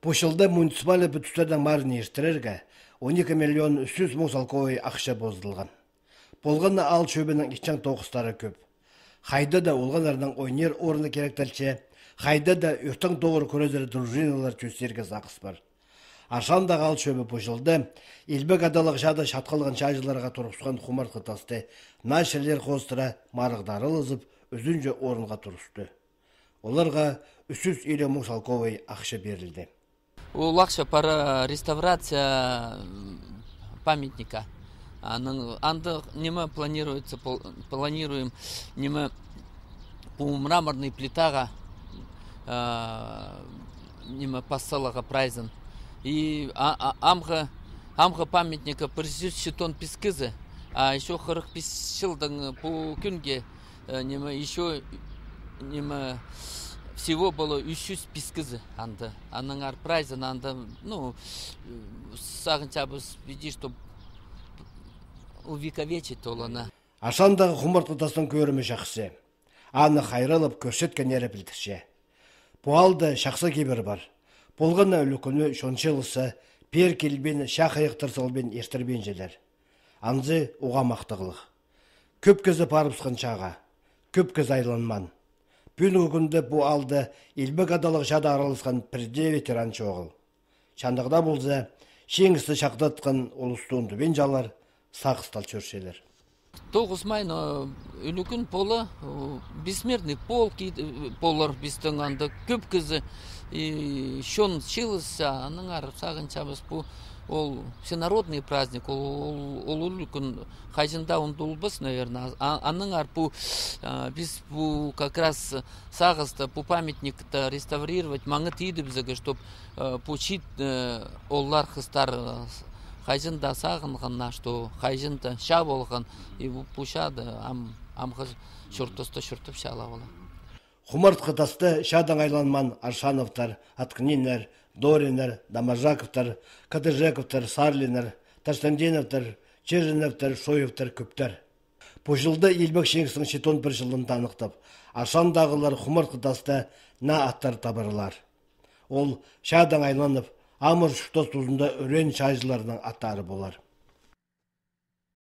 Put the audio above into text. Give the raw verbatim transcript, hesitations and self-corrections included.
Пу чылда муниципальный пӱдістернің марын иртірерге он ікі миллион ӱс чӱс муң салковай ахча позыдылған. Полған на аал чӧбінің итчең тоғыстары кӧп. Хайда да олғаннарның ойнир орны киректелче, хайда да ӧртең тоғыр кӱрезер дружиналар чӧстерге сағыс пар. Аршандағы аал чӧбі пу чылда илбек адалығ чаада чатхалған чааҷыларға турғысхан хумартхы тасты наа чирлер хоостыра марығда аралазып, ӱзінҷі орынға турысты. Оларға ӱс чӱс илиг муң салковай ахча пирілді. Ол ахча пара реставрация, м, памятника. Аның, анда ниме планируется, пл-, планируем, ниме, пу мраморный плитаға, а, ниме, пас саларға прайзын. И а, а, амғы, амғы памятника пір чӱс читон пис кізі, а ещё хырых пис чылдаң пу кӱнге, э, ниме, ещё, ниме, всего было ӱс чӱс пис кізі анда. Аннаңар прайзын анда, ну, э, сағынчабыс, видишь, чтоб увековечить оланы. Аршандағы хумартхы тастың кӧрімі чахсы. Аны хайраллап кӧрчеткеннері пілдірче. Пу аалда чахсы кибір пар. Полған на ӱлӱкӱнні чон чыылысса, пеер килбин, чаа-хайахтар салбин иртірбинчелер. Анзы уғаа махтағлығ. Кӧп кізі парыбысхан чааға, кӧп кізі айланмаан. Пӱӱнгі кӱнде пу аалда илбек адалығ чаада араласхан пір дее ветеран чоғыл. Чандағда полза, чиңісті чахтатхан улусты ундубинчалар, сағыстал чӧрчелер. Тоғыс май, но ӱлӱкӱн полар, о, бессмертный полк, и, э, полар пістің анда кӧп кізі, и чон чыылысса, аннаңар сағынчабыс, пу ол всенародный праздник, ол, ол, ол ӱлӱкӱн хайҷан даа ундулбас, наверное. А, аннаңар пу, а, піс пу как раз сағысты, пу памятникті реставрировать, маңат идібізерге, чтоб, э, пу чиит, э, ооллар, хыстар, э, хайҷан даа сағынғаннар, что хайҷан даа чаа полған, и пу, пу чаада ам, амғы чуртаста чуртапчалар олар. Хумартхы тасты чаадаң айланмаан Аршановтар, Аткниннер, Дориннер, Доможаковтар, Кадыжековтар, Сарлиннер, Таштандиновтар, Череновтар, Шоевтар кӧптер. Пу чылда Илбек Чиңістің читон пір чылын таныхтап, Аршандағылар хумартхы таста наа аттар табарлар. Ол чаадаң айланып, амыр чуртас тузында ӱреен чааҷыларның аттары полар.